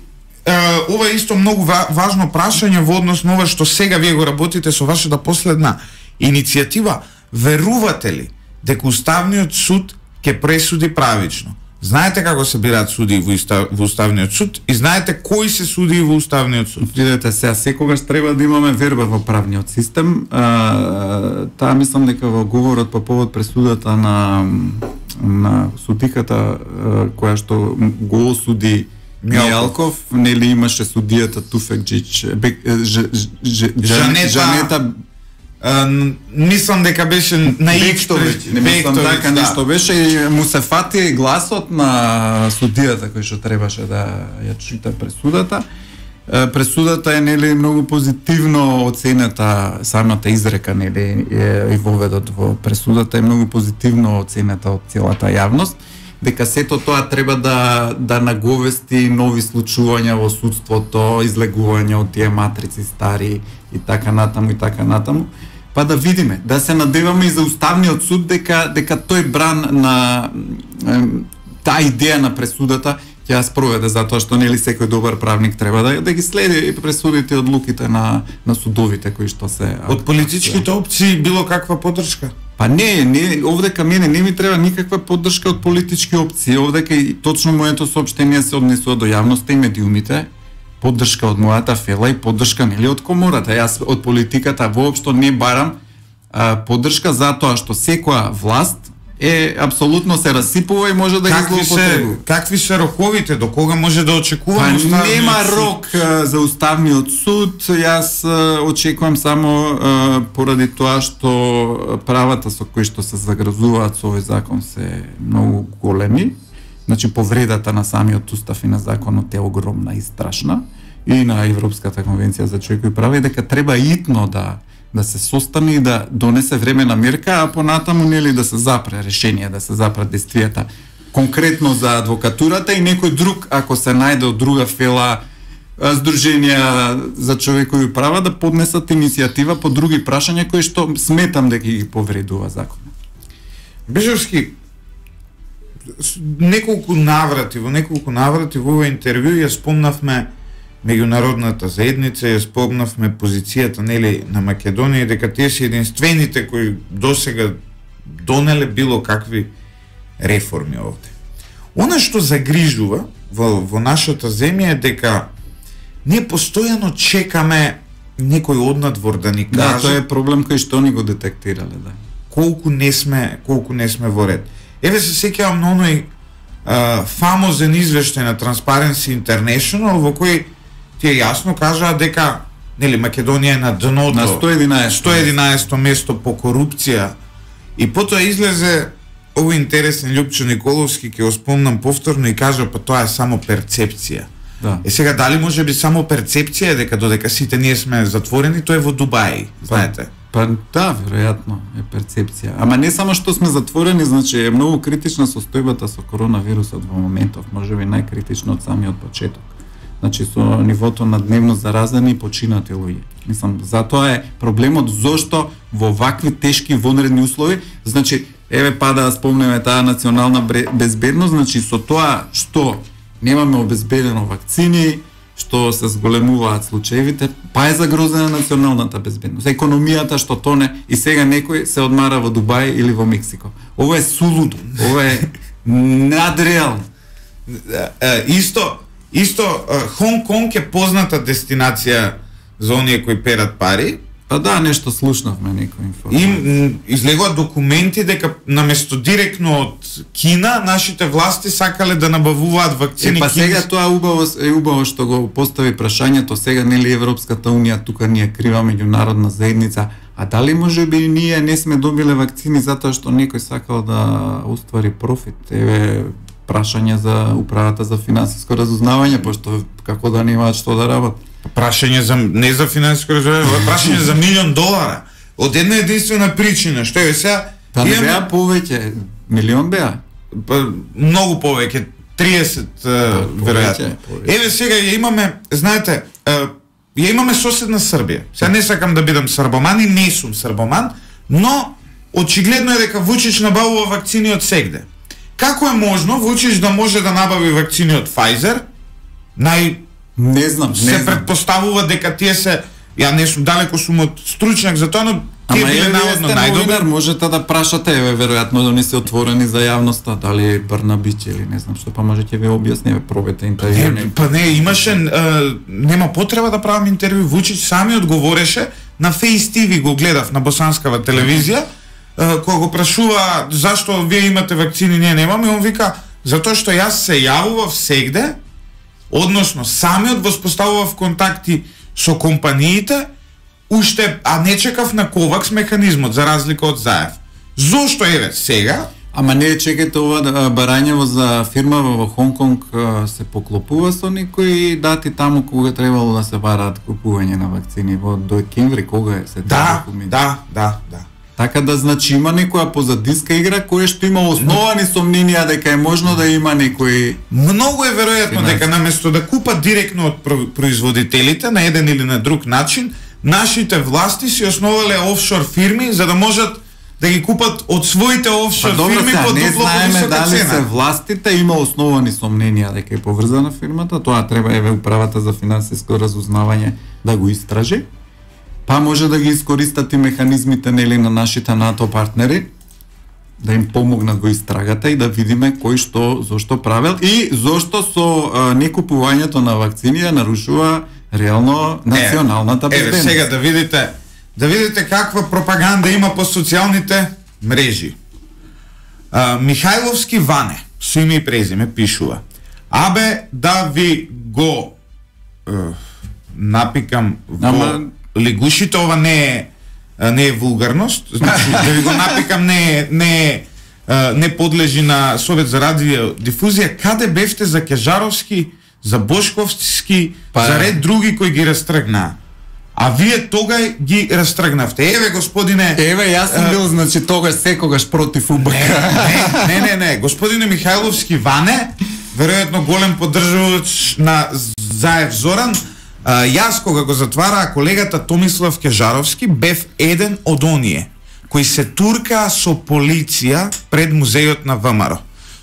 ова е исто многу важно прашање во однос на ова што сега вие го работите со вашата последна иницијатива, верувате ли дека Уставниот суд ќе пресуди правично? Знаете како се бираат судии во Уставниот суд и знаете кои се судии во Уставниот суд. Видете, сега секогаш треба да имаме верба во правниот систем. Таа мислам дека во говорот по повод пресудата на судиката која што го осуди Мијалков, нели имаше судијата Туфекџич, Жанета мислам дека беше на Бектовиќ, не мислам дека нешто беше и му се фати гласот на судијата кој што требаше да ја чита пресудата. Пресудата е нели многу позитивно оценета, самата изрека нели е воведот во пресудата е многу позитивно оценета од целата јавност, дека сето тоа треба да наговести нови случувања во судството, излегување од тие матрици стари и така натаму. Па да видиме, да се надеваме и за Уставниот суд дека тој бран на таа идеја на пресудата ќе ја спроведе, затоа што нели секој добар правник треба да ги следи пресудите и одлуките на судовите кои што се од политичките опции било каква поддршка. Па не, овдека мене не ми треба никаква поддршка од политички опции, овдека и точно моето соопштение се однесува до јавноста и медиумите, поддршка од мојата фела и поддршка нели од комората. Јас од политиката воопшто не барам поддршка затоа што секоја власт е апсолутно се расипува и може да ги злоупотребува. Какви се роковите, до кога може да очекуваме Уставниот суд? Нема рок за Уставниот суд, јас очекувам само поради тоа што правата со кои што се загрозуваат со овој закон се многу големи. Значи повредата на самиот устав и на законот е огромна и страшна и на Европската конвенција за човекови права и дека треба итно да се состане и да донесе времена мерка, а понатаму нели да се запре решение, да се запре действијата конкретно за адвокатурата и некој друг ако се најде од друга фела здруженија за човекови права да поднесат иницијатива по други прашања кои што сметам дека ги повредува законот. Бежовски, неколку наврати во овој интервју ја спомнавме меѓународната заедница, ја спомнавме позицијата нели на Македонија дека тие се единствените кои досега донеле било какви реформи овде. Она што загрижува во нашата земја е дека ние постојано чекаме некој однадвор да ни каже. Да, тоа е проблем кој што ни го детектирале, да. Колку не сме во ред. Еве се сеќавам на оној фамозен извештај на Transparency International во кој тие јасно кажаа дека нели Македонија е на дното на 111 место по корупција и потоа излезе овој интересен Љупчо Николовски, ќе го спомнам повторно и кажа па тоа е само перцепција. Да. Сега дали може би само перцепција дека додека сите ние сме затворени, тоа е во Дубај, знаете. Па да, веројатно е перцепција. Ама не само што сме затворени, значи е многу критична состојбата со коронавирусот во моментов, можеби најкритично од самиот почеток. Значи со нивото на дневно заразени и починати луѓе. Мислам, затоа е проблемот зошто во вакви тешки вонредни услови, значи еве да спомнеме таа национална безбедност, значи со тоа што немаме обезбедено вакцини, што се зголемуваат случаевите, па е загрозена националната безбедност. Економијата што тоне и сега некој се одмара во Дубај или во Мексико. Ова е сулудо, ова е надреално. Исто Хонг Конг е позната дестинација за оние кои перат пари. Па да, нешто слушнавме некој информација. Им излегуваат документи дека наместо директно од Кина, нашите власти сакале да набавуваат вакцини. Па сега тоа убаво што го постави прашањето, сега нели Европската унија тука ни е крива меѓународна заедница, а дали можеби ние не сме добиле вакцини затоа што некој сакал да уствари профит? Еве прашање за управата за финансиско разузнавање, пошто како да немаат што да работат. Прашање за не за финансиско разузнавање, прашање за $1 милион. Од една единствена причина, што е сега Па не беа повеќе, милион беа. Многу повеќе. 30 веројатно. Еве сега ја имаме, знаете, ја имаме соседна Србија. Сега не сакам да бидам србоман и не сум србоман, но очигледно е дека Вучич набавува вакцини од сегде. Како е можно Вучич да може да набави вакцини од Pfizer? Не знам. Предпоставува дека тие се, ја не сум далеко сум од стручњак за тоа, но тие биле наводно најдобри. Можете да прашате, веројатно да не се отворени за јавноста, дали Барнабич или не знам што, па можете ви објасни, пробете интервју. Па не, имаше, нема потреба да правам интервју, Вучич сами одговореше на Face TV, го гледав на босанскава телевизија, кога го прашува зашто вие имате вакцини, ние немаме, он вика, затоа што јас се јавував сегде, односно самиот воспоставував контакти со компаниите, уште, а не чекав на Ковакс механизмот, за разлика од Заев. Зошто еве сега? Ама не чекајте ова барањево за фирма во Хонконг се поклопува со некои дати таму кога требало да се бараат купување на вакцини во до декември, кога е се документи? Да. Така да значи има некоја позадиска игра која што има основани сомненија дека е можно да има некои. Многу е веројатно дека наместо да купат директно од производителите на еден или на друг начин, нашите власти си основале офшор фирми за да можат да ги купат од своите офшор фирми по дупло повисока цена. Се властите има основани сомненија дека е поврзана фирмата, тоа треба еве управата за финансиско разузнавање да го истражи. Па може да ги искористат и механизмите нели на нашите НАТО партнери да им помогнат го истрагата и да видиме кој што зошто правел и зошто со некупувањето на вакцини ја нарушува реално националната безбедност. Еве сега да видите каква пропаганда има по социјалните мрежи. Михајловски Ване, со име и презиме, пишува: абе да ви го напикам во лигушите, ова не е вулгарност, значи да ви го напикам не подлежи на Совет за радиодифузија. Каде бевте за Кежаровски, за Бошковски, за ред други кои ги растргнаа? А вие тогај ги растргнавте. Еве господине, јас сум бил значи тогаш секогаш против УБК. Не, господине Михајловски Ване, веројатно голем поддржувач на Заев Зоран. Јас кога го затвараа колегата Томислав Кежаровски, бев еден од оние кои се туркаа со полиција пред музејот на ВМРО.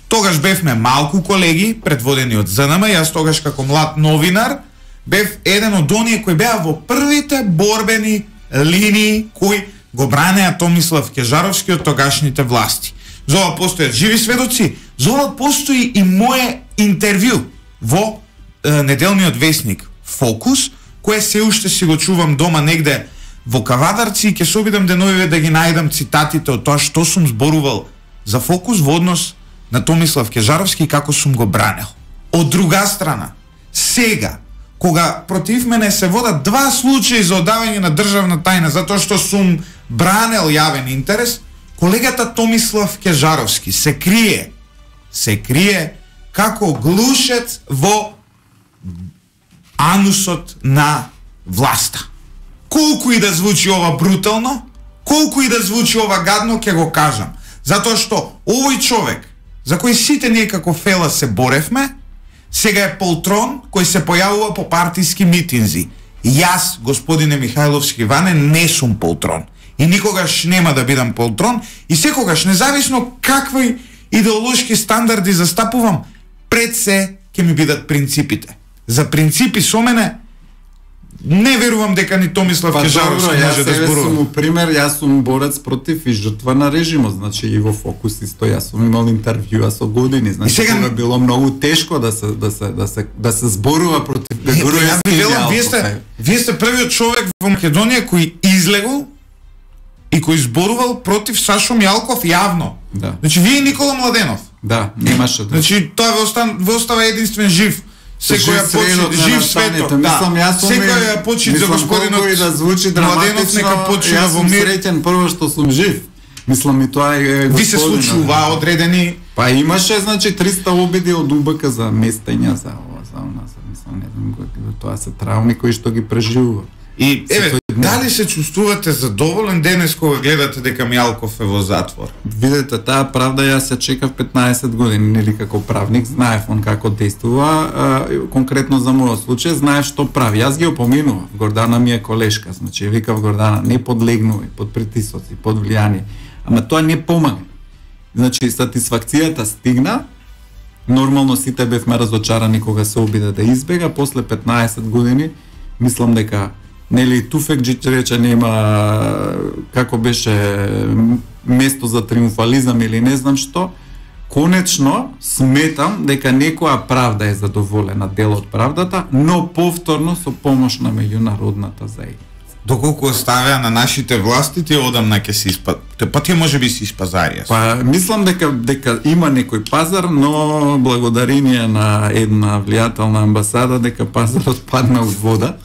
Тогаш бевме малку колеги, предводени од ЗНМ, јас тогаш како млад новинар бев еден од оние кои беа во првите борбени линии кои го бранеа Томислав Кежаровски од тогашните власти. За ова постојат живи сведоци, за ова постои и мое интервју во неделниот весник Фокус, кое се уште си го чувам дома негде во Кавадарци и ќе се обидам деновиве да ги најдам цитатите од тоа што сум зборувал за Фокус во однос на Томислав Кежаровски и како сум го бранел. Од друга страна, сега, кога против мене се водат два случаи за одавање на државна тајна затоа што сум бранел јавен интерес, колегата Томислав Кежаровски се крие како глушец во анусот на власта. Колку и да звучи ова брутално, колку и да звучи ова гадно, ќе го кажам. Затоа што овој човек, за кој сите ние како фела се боревме, сега е полтрон кој се појавува по партиски митинзи. Јас, господине Михајловски Ване, не сум полтрон. И никогаш нема да бидам полтрон. И секогаш, независно какви идеолошки стандарди застапувам, пред се ќе ми бидат принципите. За принципи со мене не верувам дека ни Томислав Кежаровски може да зборува. Јас сум пример, јас сум борец против и жртва на режимот, значи и во Фокус исто јас сум имал интервјуа со години, значи сега било многу тешко да се зборува против Вие сте првиот човек во Македонија кој излегол и кој зборувал против Сашо Мјалков јавно. Да. Значи вие и Никола Младенов. Да, немаше. Значи тоа ве остава единствен жив. Секоја почит жив светот. Мислам, јас сум секоја почит за господинот да звучи драматично. Нека почина во мир. Среќен прво што сум жив. Мислам и тоа е ви се случува одредени. Па имаше значи 300 обиди од УБК за местења за ова, за она, мислам, не знам тоа се трауми кои што ги преживува. И еве, дали се чувствувате задоволен денес кога гледате дека Мијалков е во затвор? Видете, таа правда јас ја чекав 15 години, нели како правник, знаев он како действува, конкретно за мојот случај, знаев што прави. Јас ги опоменував, Гордана ми е колешка, значи викав Гордана, не подлегнувај под притисоци, под влијание. Ама тоа не помага. Значи, сатисфакцијата стигна, нормално сите бевме разочарани кога се обиде да избега, после 15 години, мислам дека нели Туфекџи рече нема како беше место за триумфализам или не знам што, конечно сметам дека некоја правда е задоволена, дел од правдата, но повторно со помош на меѓународната заедница. Доколку оставија на нашите власти, тие одамна ќе се па тие можеби се испазарија. Па мислам дека има некој пазар, но благодарение на една влијателна амбасада дека пазарот падна од вода.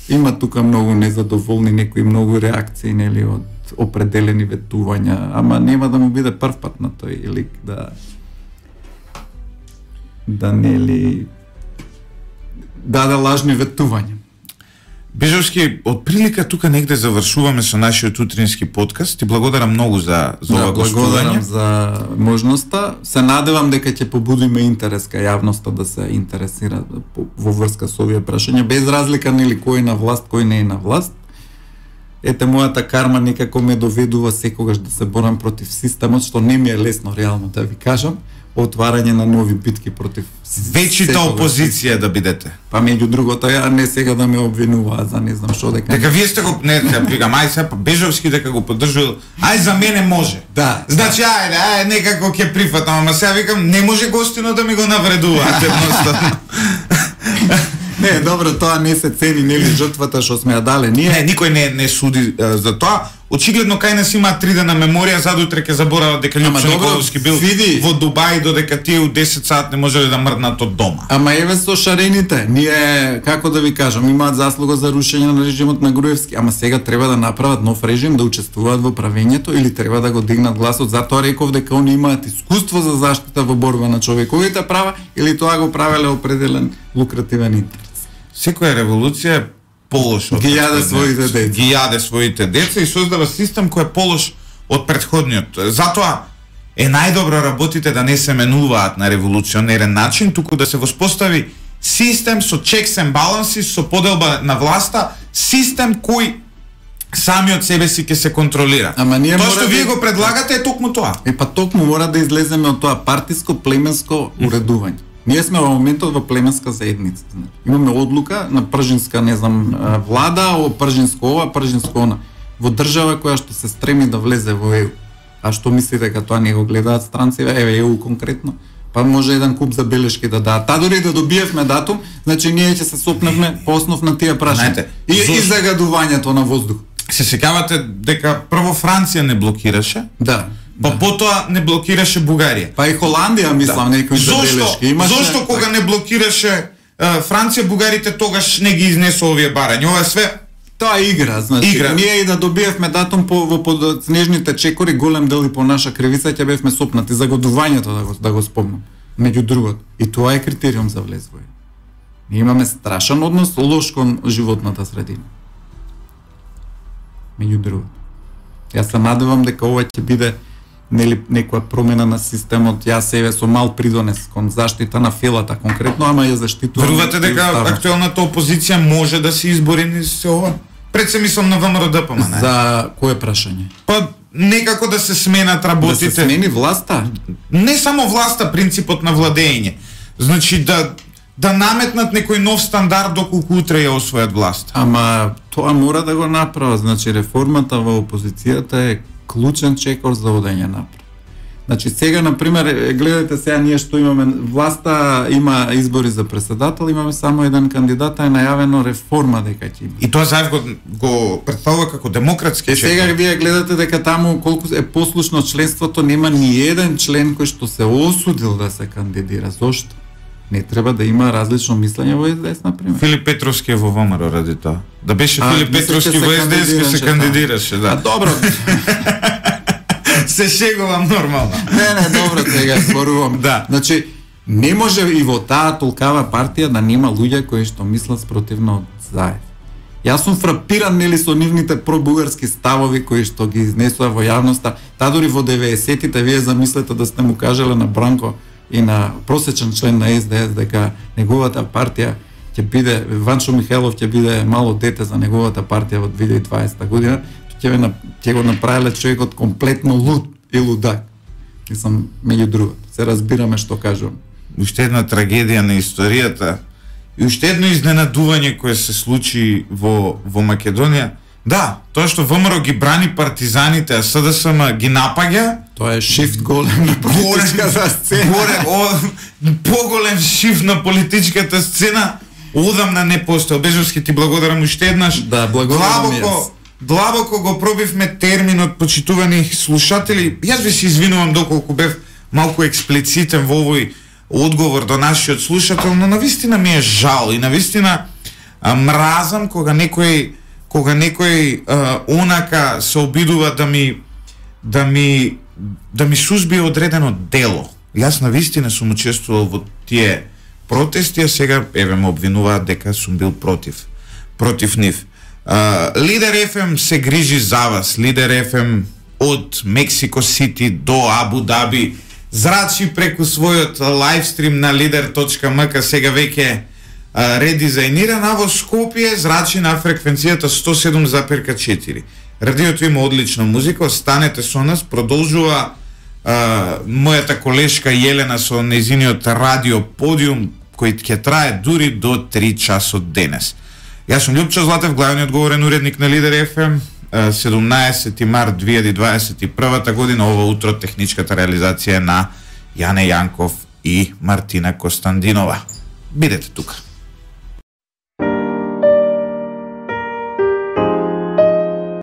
Има тука многу незадоволни, некои многу реакции, нели, од определени ветувања, ама нема да му биде прв пат на тој лик да нели даде лажни ветувања. Бежовски, од прилика тука негде завршуваме со нашиот утрински подкаст. Ти благодарам многу за ова гостување. Благодарам за можноста. Се надевам дека ќе побудиме интерес кај јавноста да се интересира во врска со овие прашања, без разлика нели кој е на власт, кој не е на власт. Ете, мојата карма некако ме доведува секогаш да се борам против системот, што не ми е лесно реално да ви кажам. Отварање на нови битки против вечита опозиција да бидете. Па меѓу другото, ја не сега да ме обвинуваат за не знам што дека. Дека вие сте го не викам, ај сега Бежовски дека го поддржува. Ај за мене може. Да. Значи ајде, некако ќе прифатам, ама сега викам не може гостино да ми го навредуваат едноставно. Не, добро, тоа не се цени, нели жртвата што сме ја дале ние. Не, никој не суди за тоа. Очигледно кај нас има 3 дена меморија, задутре ќе заборават дека Лјупчо Николовски бил во Дубај додека тие у 10 сат не можеле да мрднат од дома. Ама еве со шарените, ние како да ви кажам, имаат заслуга за рушење на режимот на Груевски, ама сега треба да направат нов режим, да учествуваат во правењето или треба да го дигнат гласот. Затоа реков дека они имаат искуство за заштита во борба на човековите права или тоа го правеле определен лукративен интерес. Секоја револуција е полош од ги јаде своите деца. Ги јаде своите деца и создава систем кој е полош од претходниот. Затоа е најдобро работите да не се менуваат на револуционерен начин, туку да се воспостави систем со checks and balances, со поделба на власта, систем кој сами од себе си ќе се контролира. Ама ние тоа што вие го предлагате е токму тоа. Па токму мора да излеземе од тоа партиско племенско уредување. Ние сме во моментот во племенска заедница. Имаме одлука на пржинска, не знам, влада, пржинско ова, пржинско она. Во држава која што се стреми да влезе во ЕУ. А што мислите дека тоа не го гледаат странци? Еве ЕУ конкретно. Па може еден куп забелешки да дадат. Та дори да добиевме датум, значи ние ќе се сопневме по основ на тие прашања. И загадувањето на воздух. Се сеќавате дека прво Франција не блокираше? Да. Па потоа не блокираше Бугарија. Па и Холандија, мислам, некои забелешки имаше. Зошто кога не блокираше Франција, бугарите тогаш не ги изнесо овие барања? Ова е све тоа игра, значи ние и да добиевме датум во под снежните чекори, голем дел и по наша кривица ќе бевме сопнати загадувањето да го спомнам. Меѓу другото, и тоа е критериум за влез во. Ние имаме страшен однос лош кон животната средина. Меѓу другото. Јас се надевам дека ова ќе биде нели некоја промена на системот. Јас себе со мал придонес кон заштита на фелата конкретно, ама ја заштитувам. Верувате дека актуелната опозиција може да се избори низ се ова? Пред се мислам на ВМРО-ДП, не? За кое прашање? Па некако да се сменат работите. Да се смени власта? Не само власта, принципот на владење. Значи да наметнат некој нов стандард доколку утре ја освојат власт. Ама тоа мора да го направат. Значи реформата во опозицијата е клучен чекор за одење напред. Значи сега на пример гледате сега ние што имаме власта, има избори за председател, имаме само еден кандидат, е најавено реформа дека ќе има. И тоа Заев го представува како демократски чекор. Сега вие гледате дека таму колку е послушно членството, нема ни еден член кој што се осудил да се кандидира. Зошто? Не треба да има различно мислење во СДС, например. Филип Петровски е во ВМРО ради тоа. Да беше Филип Петровски во СДС се кандидираше, да. А добро. Се шегувам нормално. Не, добро, сега зборувам. Да. Значи, не може и во таа толкава партија да нема луѓе кои што мислат спротивно од Заев. Јас сум фрапиран нели со нивните пробугарски ставови кои што ги изнесува во јавноста. Та дури во 90-тите вие замислете да сте му кажале на Бранко и на просечен член на СДС дека неговата партија ќе биде, Ванчо Михајлов ќе биде мало дете за неговата партија во 2020 година, ќе го направиле човекот комплетно луд и лудак. Мислам, меѓу другото, се разбираме што кажувам. Уште една трагедија на историјата и уште едно изненадување кое се случи во Македонија. Да, тоа што ВМРО ги брани партизаните, а СДСМ ги напаѓа, тоа е шифт голем на политичката сцена. Поголем шифт на политичката сцена одамна не постои. Бежовски, ти благодарам уште еднаш. Да, благодарам јас. Длабоко го пробивме терминот, почитувани слушатели. Јас ви се извинувам доколку бев малку експлицитен во овој одговор до нашиот слушател, но навистина ми е жал и навистина мразам кога некој онака се обидува да ми сузбие одредено дело. Јас навистина сум учествувал во тие протести, а сега еве ме обвинуваат дека сум бил против нив. Лидер FM се грижи за вас. Лидер FM од Мексико Сити до Абу Даби зрачи преку својот лайвстрим на lider.mk, сега веќе редизајниран, а во Скопје зрачи на фреквенцијата 107,4. Радиото има одлична музика, останете со нас, продолжува мојата колешка Јелена со незиниот радио подиум, кој ќе трае дури до 3 часот денес. Јас сум Љупчо Златев, главниот одговорен уредник на Лидер FM, 17 март 2021 година, ова утро техничката реализација на Јане Јанков и Мартина Костандинова. Бидете тука.